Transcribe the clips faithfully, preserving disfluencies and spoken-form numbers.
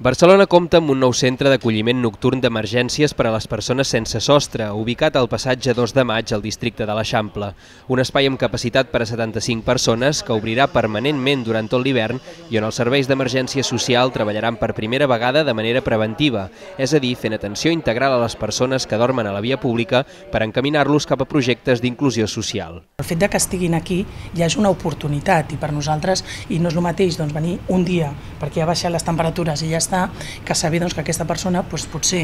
Barcelona compta amb un nou centre d'acolliment nocturn d'emergències per a les persones sense sostre, ubicat al passatge dos de maig al districte de l'Eixample. Un espai amb capacitat per a setanta-cinc persones que obrirà permanentment durant tot l'hivern i on els serveis d'emergència social treballaran per primera vegada de manera preventiva, és a dir, fent atenció integral a les persones que dormen a la via pública per encaminar-los cap a projectes d'inclusió social. El fet de que estiguin aquí ja és una oportunitat i per nosaltres, i no és el mateix doncs, venir un dia perquè ja baixen les temperatures i ja està, que saber doncs, que aquesta persona doncs, potser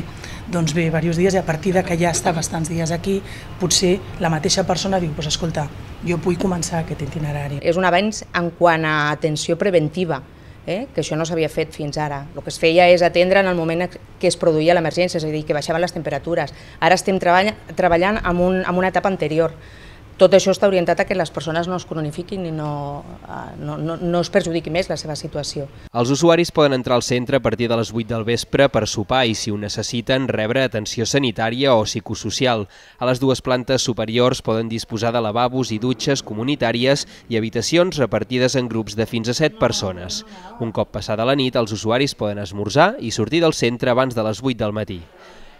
doncs, ve diversos dies i a partir de que ja està bastants dies aquí, potser la mateixa persona diu, doncs, escolta, jo vull començar aquest itinerari. És un avenç en quant a atenció preventiva, eh? que això no s'havia fet fins ara. El que es feia és atendre en el moment que es produïa l'emergència, és a dir, que baixaven les temperatures. Ara estem treballant en, un, en una etapa anterior. Tot això està orientat a que les persones no es cronifiquin i no, no, no, no es perjudiqui més la seva situació. Els usuaris poden entrar al centre a partir de les vuit del vespre per sopar i, si ho necessiten, rebre atenció sanitària o psicosocial. A les dues plantes superiors poden disposar de lavabos i dutxes comunitàries i habitacions repartides en grups de fins a set persones. Un cop passada la nit, els usuaris poden esmorzar i sortir del centre abans de les vuit del matí.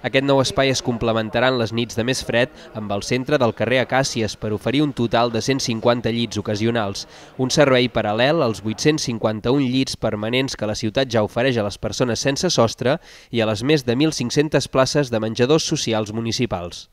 Aquest nou espai es complementarà en les nits de més fred amb el centre del carrer Acàcies per oferir un total de cent cinquanta llits ocasionals, un servei paral·lel als vuit-cents cinquanta-un llits permanents que la ciutat ja ofereix a les persones sense sostre i a les més de mil cinc-centes places de menjadors socials municipals.